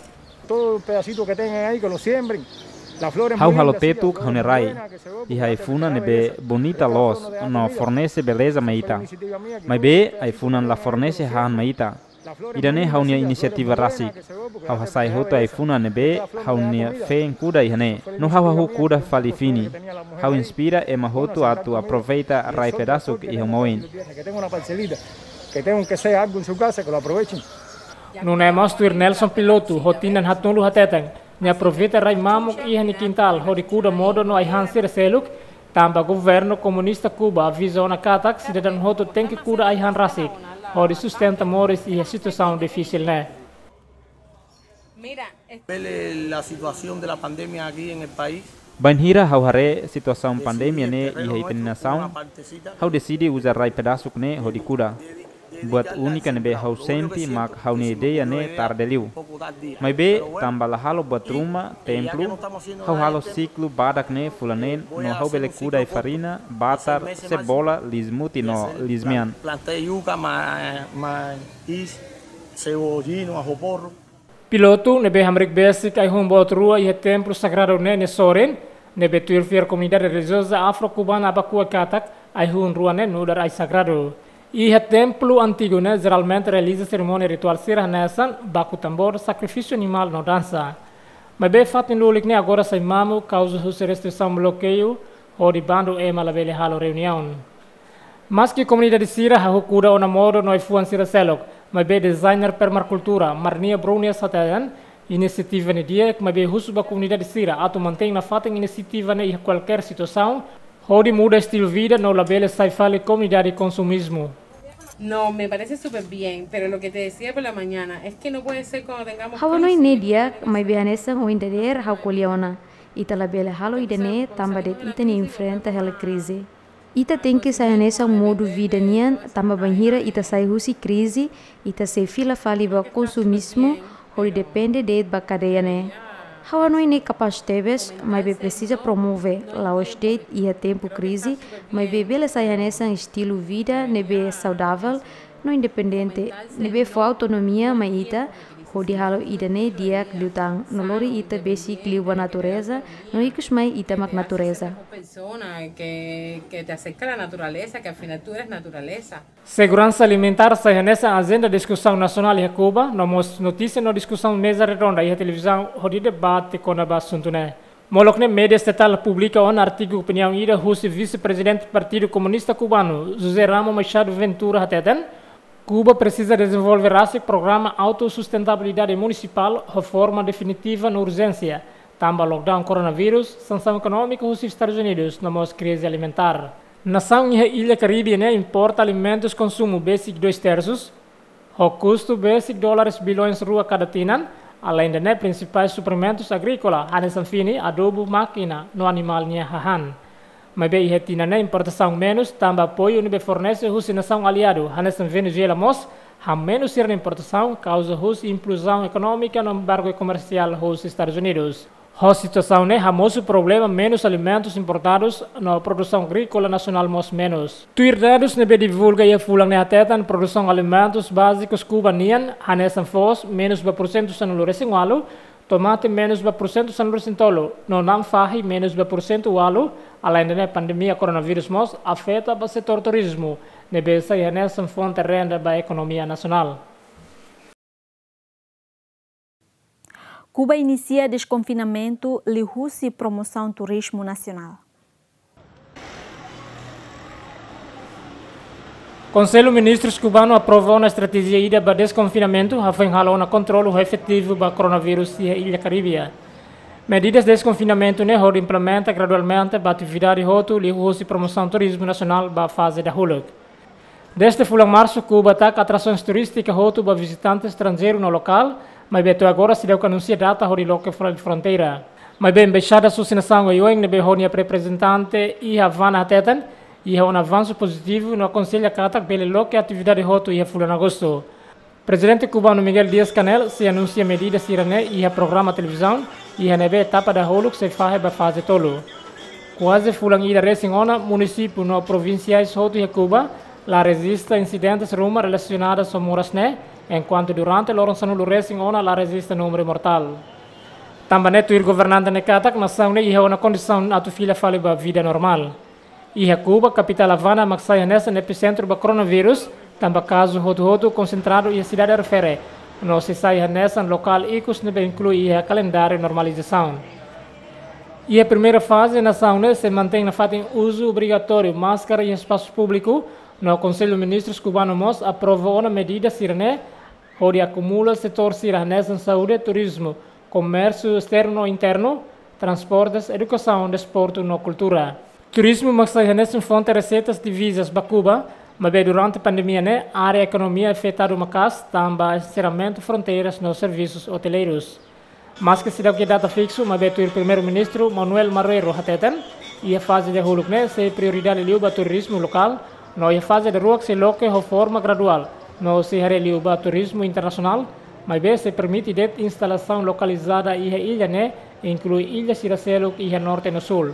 Todo pedacito que tengan ahí, que lo siembren. Las flores muy lindas, sí, las flores muy buenas, que se ve. Ha'u halo tetuk ha'u-nia rai iha ai-funan ne'ebé bonita loos no fornese beleza mai ita. Maibé ai-funan la fornese hahán mai ita. Ida-ne'e ha'u-nia inisiativa rasik. Ha'u hasai hotu ai-funan ne'ebé ha'u-nia feen kuda iha ne'e. No ha'u hahú kuda fali fini. Ha'u inspira ema hotu atu aproveita rai pedasuk iha uma oin. Que tenga una parcelita, que tenga aunque sea algo en su casa, que lo aprovechen. Nune'e mós tuir Nelson Piloto, ho tinan haatnulu hateten, nia aproveita rai mamuk iha nia kintál hodi kuda modo no ai-han sira seluk, tanba governu komunista Kuba aviza ona katak sidadaun hotu tenke kuda ai-han rasik, hodi sustenta moris iha situasaun difisil ne'e. Vele la situación de la pandemia aquí en el país. Bainhira ha'u haree situasaun pandemia ne'e iha ita-nia nasaun, ha'u deside uza rai pedasuk ne'e hodi kuda. Buat únika ne'ebé ha'u sente mak ha'u-nia ideia ne'e tarde liu. Maibé, tanba la halo buat ruma, templu, ha'u halo siklu badak ne'e fulan neen, no ha'u bele kuda ai-farina, batar, sebola, liis-mutin no liis-mean. Plantei yuca, ma-, maíz, cebollino, ajo porro. Pilotu ne'ebé hamriik besik ai-hun boot rua iha templu sagradu ne'e nia sorin, ne'ebé tuir fiar komunidade relijioza Afro-Kubana Abakua katak ai-hun rua ne'e nu'udar ai sagradu. Iha templu antigu ne'e jeralmente realiza serimónia rituál sira hanesan baku tambor, sakrifísiu animál no dansa. Maibé fatin lulik ne'e agora sai mamu kauza husi restrisaun blokeiu, hodi bandu ema labele halo reuniaun. Maski komunidade sira hahú kuda ona modo no ai-fuan sira seluk, maibé designer permakultura Marnia Brunias hateten, inisiativa ne'e di'ak, maibé husu ba komunidade sira atu mantein nafatin inisiativa ne'e iha kualkér situasaun, hodi muda estilu vida no labele sai fali komunidade konsumizmu. No, me parece súper bien, pero lo que te decía por la mañana es que no puede ser cuando tengamos Ha'u hanoin ne'e crisis. Di'ak, maibé hanesan ohin dadeer ha'u ko'alia ona. Ita labele halo ida-ne'e tanba de'it ita-nia enfrenta hela krize. Ita tenke sai hanesan modu vida nian, tanba bainhira ita sai husi krize, ita sei fila fali ba konsumizmu, hodi depende de'it ba kadeia ne'e. Ha'u hanoin ne'e kapás tebes, maibé presiza promove, la'ós de'it iha tempu krize, maibé bele sai hanesan estilu vida ne'ebé saudavel, no independente, ne'ebé fó autonomia mai ita, hodi halo ida-ne'e di'ak liután, no lori ita besik liu ba natureza, no ikus mai ita mak natureza. Persona que, que te acerca a la naturaleza, que al final tú eres naturaleza. Seguransa alimentár sai hanesan ajenda diskusaun nasionál iha Kuba, no mós notísia no diskusaun meza redonda iha televizaun hodi debate kona-ba asuntu ne'e. Molok ne'e média estatál publika ona artigu opiniaun ida husi Vise-Prezidente Partidu Komunista Kubanu, José Ramo Machado Ventura hateten, Kuba presiza dezenvolve rasik programa autosustentabilidade munisipál ho forma definitiva no urjénsia, tanba lockdown koronavírus, sansaun ekonómika husi Estadus Unidus, no mós krize alimentár. Nasaun iha illa Karibe ne'e importa alimentus konsumu besik dois terços, ho kustu besik dólares bilhões rua kada tinan, aleinde ne'e prinsipais suprimentus agríkola, hanesan fini, adubu, mákina, no animál nia hahán. Maibé iha tinan ne'e importasaun menus, tanba apoiu ne'ebé fornese husi nasaun aliadu, hanesan Venezuela mós, hamenus sira-nia importasaun, kauza husi implozaun ekonómika no embargu komersiál husi Estadus Unidus. Ho situasaun ne'e hamosu problema menus alimentus importadus no produsaun agríkola nasionál mós menus. Tuir dadus ne'ebé divulga iha fulan ne'e hateten produsaun alimentus bázikus Kuba nian, hanesan foos, menus ba porsentu sanulu resin ualu, tomate menus ba porsentu sanulu resin tolu, no na'an fahi menus ba porsentu ualu, aleinde ne'e pandemia koronavírus mós afeta ba setór turizmu, ne'ebé sai hanesan fonte renda ba ekonomia nasionál. Kuba inisia deskonfinamentu liuhusi promosaun turizmu nasionál. Konsellu Ministrus kubanu aprova ona estratéjia ida ba deskonfinamentu, hafoin halo ona kontrolu efetivu ba koronavírus iha illa Karibe. Medidas deskonfinamentu ne'e hodi implementa gradualmente ba atividade hotu liuhusi promosaun turizmu nasionál ba faze dahuluk. Dezde fulan Marsu, Kuba taka atrasoens turístika hotu ba vizitante estranjeiru no lokál, maibé to'o agora seidauk anunsia data hodi loke fali fronteira. Maibé embaixada husi nasaun oioin ne'ebé ho nia reprezentante iha Havana hateten, iha ona avansu pozitivu no akonsella katak bele loke atividade hotu iha fulan Agostu. Prezidente kubanu Miguel Díaz-Canel sei anunsia medida sira-ne'e iha programa televizaun, iha ne'ebé etapa dahuluk sei fahe ba faze tolu. Kuaze fulan ida resin ona, munisípiu no provinsiais hotu iha Kuba la rejista insidentes ruma relasionadu ho moras ne'e, enkuantu durante loron sanulu resin ona la rejista númeru mortál. Tanba ne'e tuir governante ne'e katak nasaun ne'e iha ona kondisaun atu fila fali ba vida normál. Iha Kuba, kapitál Havana mak sai hanesan episentru ba koronavírus, tanba kazu hotu-hotu konsentradu iha sidade refere, no sei sai hanesan lokál ikus ne'ebé inklui iha kalendáriu normalizasaun. Iha primeira faze, nasaun ne'e sei mantein nafatin uzu obrigatóriu máskara iha espasu públiku, no Konsellu Ministrus kubanu mós aprova ona medida sira-ne'e, hodi akumula setór sira hanesan saúde, turizmu, komérsiu esternu no internu, transportes, edukasaun, desportu no kultura. Turizmu mak sai hanesan fonte reseitas divisas ba Kuba, maibé durante pandemia ne'e, área ekonomia afetadu maka'as, tanba enserramentu fronteiras no servisus oteleirus. Maski seidauk iha data fiksu, maibé tuir Primeiru-Ministru Manuel Marrero hateten, iha faze dahuluk ne'e sei prioridade liu ba turizmu lokál, no iha faze daruak sei loke ho forma graduál, No sei haree liu ba turizmu internasionál, maibé sei permite de'it instalasaun lokalizada iha illa ne'e, inklui illa sira seluk iha norte no súl.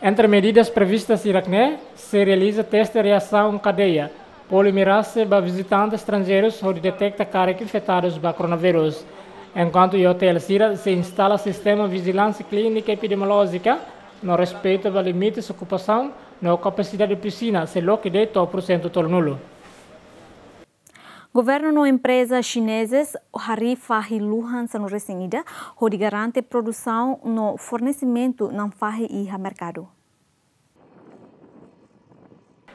Entre medidas previstas hirak-ne'e, sei realiza teste reasaun kadeia polimerase ba vizitante estranjeirus hodi deteta karik infetadus ba koronavírus. Enkuantu iha otél sira sei instala sistema vijilánsia klínika epidemiolójika, no respeita ba limites okupasaun, no kapasidade pisina sei loke de'it to'o porsentu tolunulu. Governu no empreza xinezes harii fahi luhan sanulu-resin-ida, hodi garante produsaun no fornesimentu na'an fahi iha merkadu.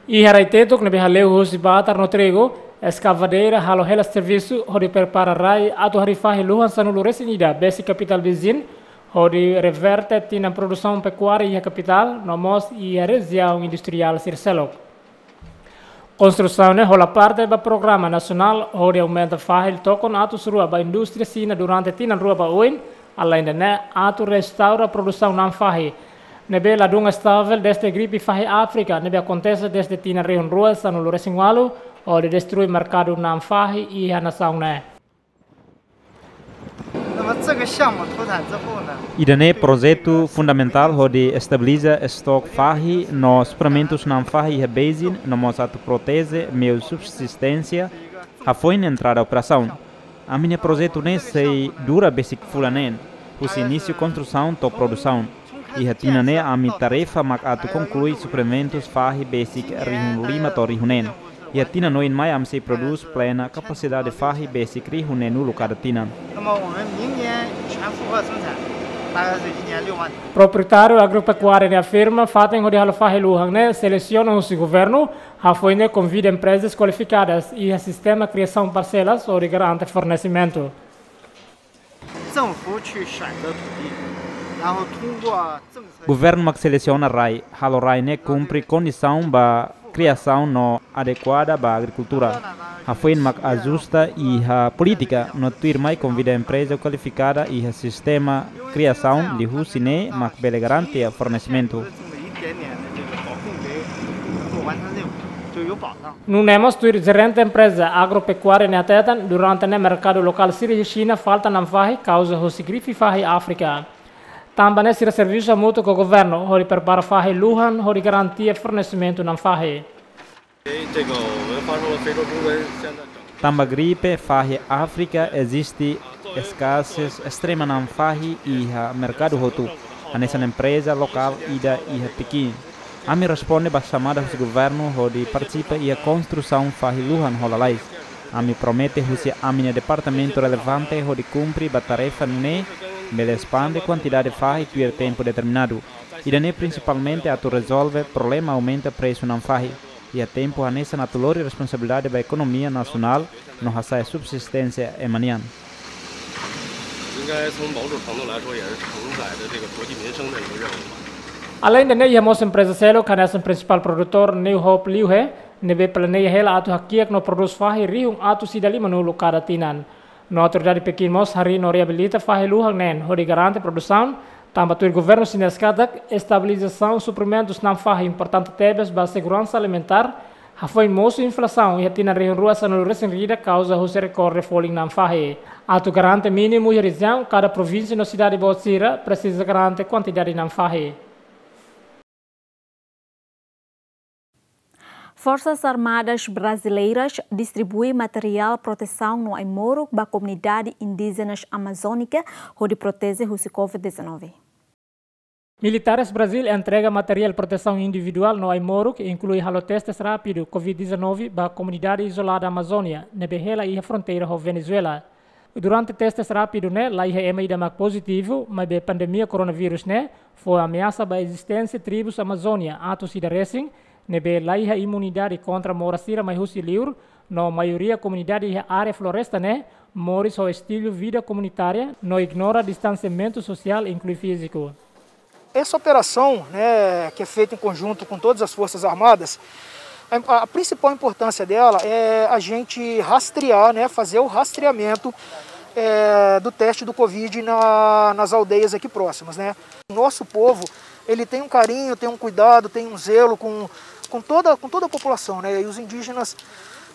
Iha rai Tetuk ne'ebé hale'u husi batar no trigu, eskavadeira halo hela servisu hodi prepara rai atu harii fahi luhan sanulu-resin-ida besik kapitál Beijing, hodi reverte tinan produsaun pekuária iha kapitál, no mós iha rejiaun industriál sira seluk. Konstrusaun ne'e hola parte ba programa nasionál hodi aumenta fahi tokon atus rua ba indústria Xina durante tinan rua ba oin, aleinde ne'e atu restaura produsaun na'an fahi ne'ebé ladún estavel desde gripe fahi Áfrika ne'ebé akontese desde tinan rihun rua sanulu-resin-ualu, hodi destrui merkadu na'an fahi iha nasaun ne'e. Ida-ne'e projetu fundamentál hodi estabiliza estok fahi no suprimentus na'an fahi iha Beijing, no mós atu proteje meiu subsisténsia hafoin entrada operasaun. Ami-nia projetu ne'e sei dura besik fulan neen, husi inísiu konstrusaun to'o produsaun. Iha tinan ne'e ami tarefa mak atu konklui suprimentus fahi besik rihun lima to'o rihun neen. Iha tinan oin mai ami sei prodús plena kapasidade fahi besik rihun neenulu kada tinan. Proprietáriu agropekuária ne'e afirma fatin hodi halo fahi luhan ne'e selesiona husi governu, hafoin ne'e konvida emprezas kualifikadas iha sistema kriasaun parselas hodi garante fornesimentu. Governu mak selesiona rai, halo rai ne'e kumpre kondisaun ba kriasaun no adekuada ba agrikultura. Hafoin mak ajusta iha polítika, no tuirmai konvida empreza kualifikada iha sistema kriasaun, liuhusi ne'e mak bele garante fornesimentu. Nune'e mós tuir jerente empreza agropekuária ne'e hateten, durante ne'e merkadu lokál sira iha Xina falta na'an fahi kauza husi gripe fahi Áfrika. Tanba ne'e sira servisu hamutuk ho governu hodi prepara fahi luhan hodi garante fornesimentu na'an fahi. Tanba gripe fahi Áfrika eziste eskasez estrema na'an fahi iha merkadu hotu, hanesan empreza lokál ida iha Pekin. Ami responde ba xamada husi governu hodi partisipa iha konstrusaun fahi luhan ho lalais. Ami promete husi ami-nia departamentu relevante hodi kumpre ba tarefa ne'e, bele espande kuantidade fahi tuir tempu determinadu. Ida-ne'e prinsipalmente atu rezolve problema aumenta presu na'an fahi. Iha tempu hanesan atu lori responsabilidade ba ekonomia nasionál no hasa'e subsisténsia ema nian. Aleinde ne'e iha mós empreza seluk hanesan prinsipál produtór New Hope Liuhe, ne'ebé planeia hela atu hakiak no prodús fahi rihun atus ida limanulu kada tinan. No autoridade Pekin mós harii no reabilita fahi luhan neen hodi garante produsaun, tanba tuir governu xinés katak estabilizasaun suprimentus na'an fahi importante tebes ba seguransa alimentár, hafoin mosu inflasaun iha tinan rihun rua sanulu-resin-ida kauza husi rekorde folin na'an fahi. Atu garante mínimu iha rejiaun, kada provínsia no sidade boot sira presiza garante kuantidade na'an fahi. Forsas Armadas Brasileiras distribui materiál protesaun no ai-moruk ba komunidade indíjenas amazónika hodi proteje husi covid dezanove. Militares Brazíl entrega materiál protesaun individuál no ai-moruk, inklui halo testes rápidu covid dezanove ba komunidade izolada Amazónia, ne'ebé hela iha fronteira ho Venezuela. Durante testes rápidu ne'e, laiha ema ida mak pozitivu, maibé pandemia koronavírus ne'e fó ameasa ba ezisténsia tribus Amazónia atus ida resin, ne'ebé laiha imunidade kontra moras sira mai husi liur, no maioria komunidade iha área floresta ne'e moris ho estilu vida komunitária, no ignora distansiamentu sosiál inklui fíziku. Essa operação, né, que é feita em conjunto com todas as Forças Armadas, a, a principal importância dela é a gente rastrear, né, fazer o rastreamento, é, do teste do covid na, nas aldeias aqui próximas, né. O nosso povo, ele tem um carinho, tem um cuidado, tem um zelo com, com toda, com toda a população, né, e os indígenas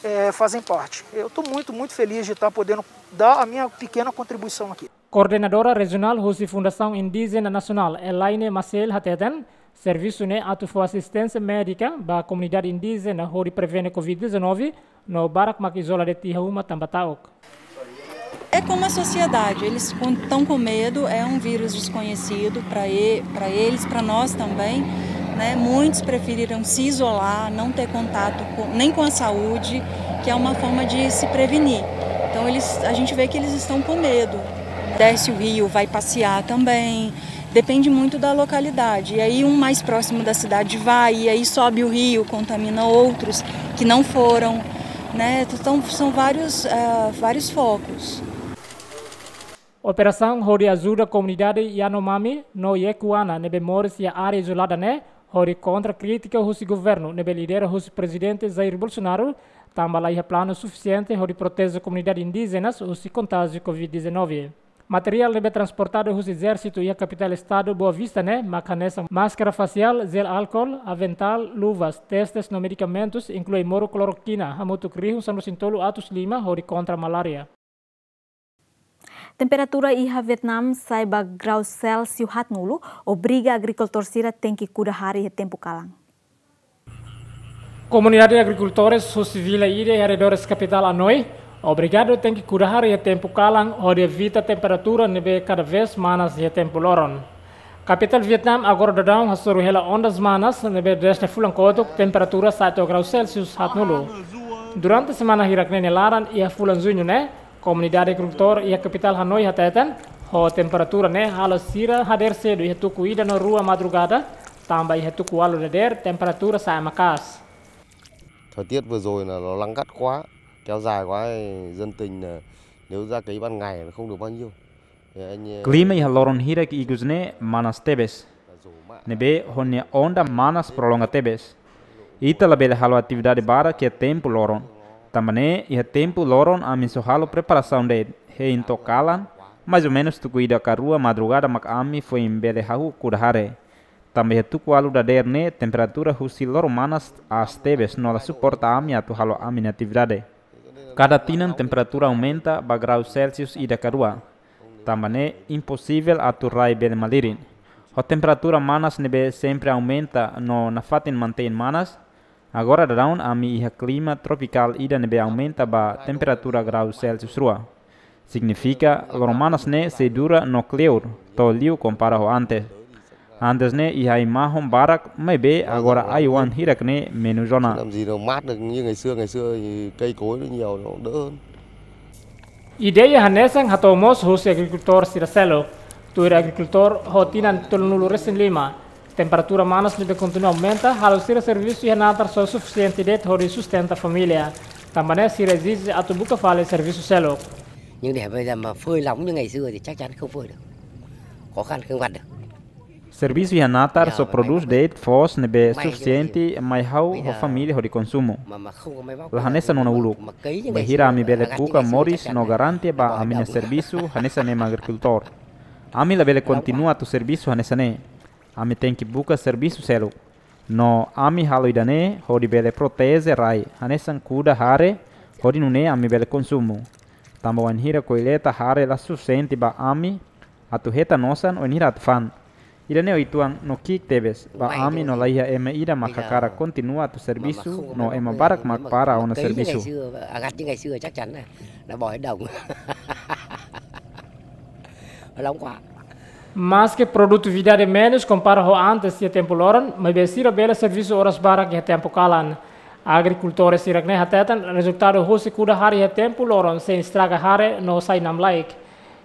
eh, fazem parte. Eu estou muito, muito feliz de estar podendo dar a minha pequena contribuição aqui. Koordenadora Rejionál husi Fundasaun Indíjena Nasionál, Elaine Maciel hateten, servisu ne'e atu fó asisténsia médika ba komunidade indíjena hodi prevene covid dezanove, no barak mak izola de'it iha uma tanba ta'uk. É como a sociedade, eles estão com medo, é um vírus desconhecido para e, para eles, para nós também, né? Muitos preferiram se isolar, não ter contato com, nem com a saúde, que é uma forma de se prevenir. Então eles, a gente vê que eles estão com medo. Desce o rio, vai passear também. Depende muito da localidade. E aí um mais próximo da cidade vai, e aí sobe o rio, contamina outros que não foram, né? Então são vários, ah, vários focos. Operasaun hodi ajuda komunidade Yanomami no Yekuana ne'ebé moris iha área izolada ne'e, hodi kontra krítika husi governu ne'ebé lidera husi Prezidente Jair Bolsonaro, tanba laiha planu sufisiente hodi proteje komunidade indíjenas husi kontájiu covid dezanove. Materiál ne'ebé transportadu husi ezérsitu iha kapitál estadu Boa Vista ne'e mak hanesan máskara fasiál, jel álkol, aventál, luvas, testes no medikamentus, inklui moru klorokina, hamutuk rihun sanulu-resin-tolu atus lima hodi kontra malária. Temperatura iha Vietnam sa'e ba grau Celsius haatnulu, obriga agrikultór sira tenke kuda hare iha tempu kalan. Komunidade agrikultores husi vila ida iha arredores kapitál Hanoi obrigadu tenke kuda hare iha tempu kalan hodi evita temperatura ne'ebé kada vez manas iha tempu loron. Kapitál Vietnam agora daudaun hasoru hela ondas manas ne'ebé dezde fulan kotuk temperatura sa'e to'o grau Celsius haatnulu. Durante semana hirak ne'e nia laran iha fulan Juñu ne'e, komunidade agrikultór iha kapitál Hanoi hateten, ho temperatura ne'e halo sira hadeer sedu iha tuku ida no rua madrugada, tanba iha tuku ualu dadeer temperatura sa'e maka'as. Thời tiết vừa rồi là nó nắng gắt quá, kéo dài quá, dân tình là nếu ra cấy ban ngày là không được bao nhiêu. Klima iha loron hirak ikus ne'e manas tebes. Ne'ebé ho nia onda manas prolonga tebes. Ita labele halo atividade barak iha tempu loron. Tanba ne'e iha tempu loron ami só halo preparasaun de'it, hein to'o kalan, mais ou menus tuku ida ka rua madrugada mak ami foin bele hahú kuda hare. Tanba iha tuku ualu dadeer ne'e temperatura husi loron manas aas tebes no la suporta ami atu halo ami-nia atividade. Kada tinan temperatura aumenta ba grau Celsius ida ka rua. Tanba ne'e imposivel atu rai bele malirin. Ho temperatura manas ne'ebé sempre aumenta no nafatin mantein manas, agora daudaun ami iha klima tropikál ida ne'ebé aumenta ba temperatura grau Celsius rua. Signifika loron manas ne'e sei dura no kleur, to'o liu kompara ho antes. Antes ne'e iha ai-mahon barak, maibé agora ai-oan hirak ne'e menus ona. Làm gì nó mát được như ngày xưa, ngày xưa thì cây cối nó nhiều, nó đỡ hơn. Ideia hanesan hato'o mós husi agrikultór sira seluk. Tuir agrikultór ho tinan tolunulu-resin-lima, temperatura manas ne'ebé kontinua aumenta halo sira servisu iha natar só sufisiente de'it hodi sustenta família. Tanba ne'e sira ezije atu buka fali servisu seluk. Nhưng để bây giờ mà phơi lỏng như ngày xưa thì chắc chắn không phơi được. Khó khăn không vặt được. Servisu iha natar só prodús de'it foos ne'ebé sufisiente mai ha'u ho família hodi konsumu. La hanesan ona uluk. Bainhira ami bele buka moris no garantia ba ami-nia servisu hanesan ema agrikultór. Ami labele kontinua atu servisu hanesan ne'e. Ami tenke buka servisu seluk. No ami halo ida-ne'e hodi bele proteje rai, hanesan kuda hare, hodi nune'e ami bele konsumu. Tanba wainhira kolleita hare la sufisiente ba ami atu hetan osan wainhira atu fa'an. Ida-ne'e uitoan no ki'ik tebes ba ami no laiha ema ida mak hakarak kontinua atu servisu no ema barak mak para ona servisu. Agat de ngày xưa chắc chắn là, là bỏ hết đồng. Lòng quá. Maske produtividade menus kompara ho antes iha tempu loron, maibé sira bele servisu oras barak iha tempu kalan. Agrikultór sira-ne'e hateten rezultadu husi kuda hare iha tempu loron sei estraga hare no sai namlaik.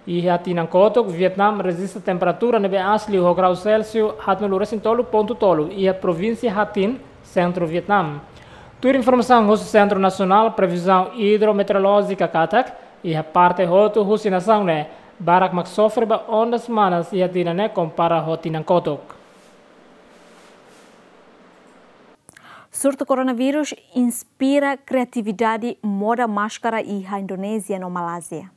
Iha tinan kotuk, Vietnam rejista temperatura ne'ebé aas liu ho grau Celsius haatnulu-resin-tolu pontu tolu iha provínsia Ha Tinh, sentru Vietnam. Tuir informasaun husi Sentru Nasionál Previzaun Idrometeorolójika katak, iha parte hotu husi nasaun ne'e, barak mak sofre ba ondas manas iha tinan ne'e kompara ho tinan kotuk. Surtu koronavírus inspira kriatividade moda máskara iha Indonézia no Malázia.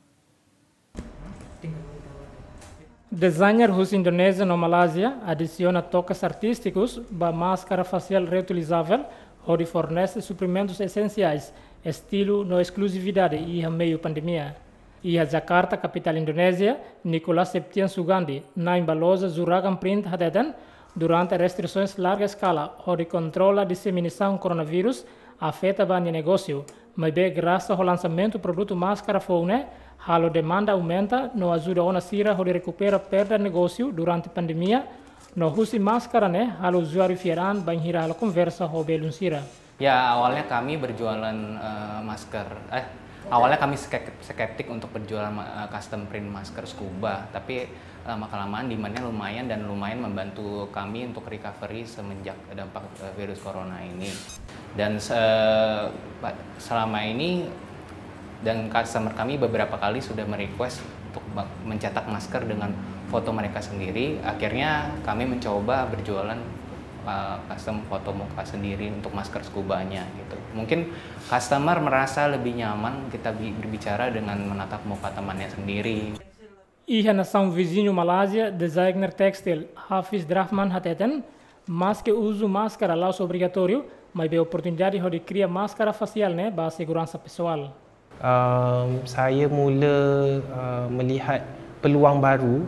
Designer husi Indonézia no Malázia adisiona toques artístikus ba máskara fasiál reutilizável hodi fornese suprimentus esensiais, estilu no eskluzividade iha meiu pandemia. Iha Jakarta, kapitál Indonézia, Nicolas Septian Sugandi, na'in ba loja Juragan Print hateten, durante restrisoens larga eskala hodi kontrola diseminasaun koronavírus afeta ba nia negósiu, maibé grasa ho lansamentu produtu máskara foun ne'e, halo demanda aumenta no ajuda ona sira hodi rekupera perda negósiu durante pandemia, no husi máskara ne'e halo uzuáriu fiar an bainhira halo konversa ho belun sira. Ya, awalnya kami berjualan, eh, masker, eh, awalnya kami skep-, skeptik untuk berjualan ma-, eh, custom print masker scuba, tapi lama-kelamaan demand-nya lumayan dan lumayan membantu kami untuk recovery semenjak dampak, eh, virus corona ini. Dan se-, pa-, selama ini dan customer kami beberapa kali sudah merequest untuk ba-, mencetak masker dengan foto mereka sendiri. Akhirnya kami mencoba berjualan, uh, custom foto muka sendiri untuk masker scuba-nya gitu. Mungkin customer merasa lebih nyaman kita bi-, berbicara dengan menatap muka temannya sendiri. Iha nasaun viziñu Malázia, designer tékstil Hafiz Drahman hateten, maske uzu máskara la'ós obrigatóriu, maibé oportunidade hodi kria máskara fasiál ne'e ba seguransa pesoál. Um, saya mula, uh, melihat peluang baru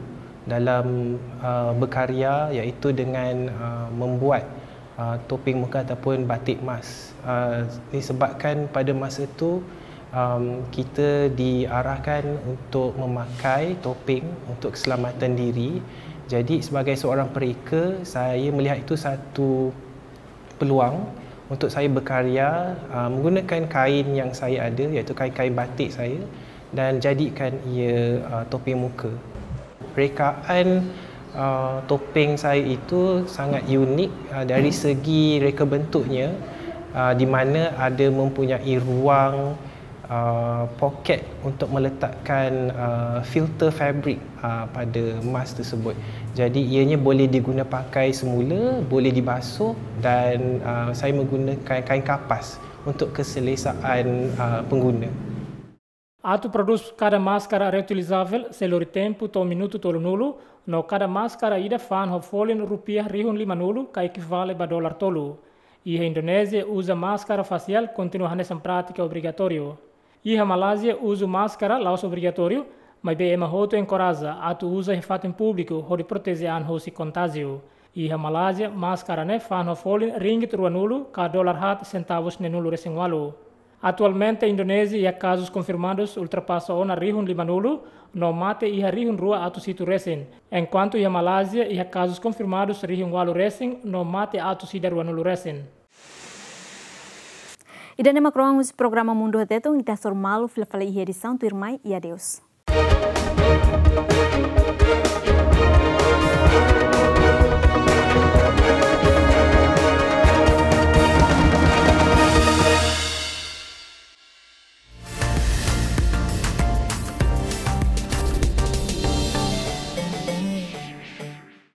dalam, uh, berkarya, iaitu dengan, uh, membuat, uh, topeng muka ataupun batik mask. Uh, disebabkan pada masa itu, um, kita diarahkan untuk memakai topeng untuk keselamatan diri. Jadi, sebagai seorang pereka, saya melihat itu satu peluang untuk saya berkarya, uh, menggunakan kain yang saya ada, iaitu kain-kain batik saya, dan jadikan ia, uh, topeng muka. Rekaan, uh, topeng saya itu sangat unik, uh, dari segi reka bentuknya, uh, di mana ada mempunyai ruang, uh, poket untuk meletakkan, uh, filter fabric, uh, pada mask tersebut. Jadi, ianya boleh diguna pakai semula, boleh dibasuh, dan, uh, saya menggunakan kain kapas untuk keselesaan, uh, pengguna. Atu prodús kada máskara reutilizável sei lori tempu to'o minutu tolunulu, no kada máskara ida fa'an ho folin rupiah rihun limanulu ka ekivale ba dolar tolu. Iha Indonézia, uza máskara fasiál kontinua hanesan prátika obrigatóriu. Iha Malázia, uzu máskara la'ós obrigatóriu, maibé ema hotu enkoraja atu uza iha fatin públiku hodi proteje an husi kontájiu. Iha Malázia, máskara ne'e fa'an ho folin ringgit ruanulu ka dolar haat sentavus neenulu resin ualu. Atualmente, Indonézia iha kazus konfirmadus ultrapasa ona rihun limanulu, no mate iha rihun rua atus hitu resin. Enkuantu iha Malázia iha kazus konfirmadus rihun ualu resin, no mate atus ida ruanulu resin. Ida-ne'e mak rohan husi programa Mundu Tetun, ita hasoru malu fila fali iha edisaun tuirmai, i adeus.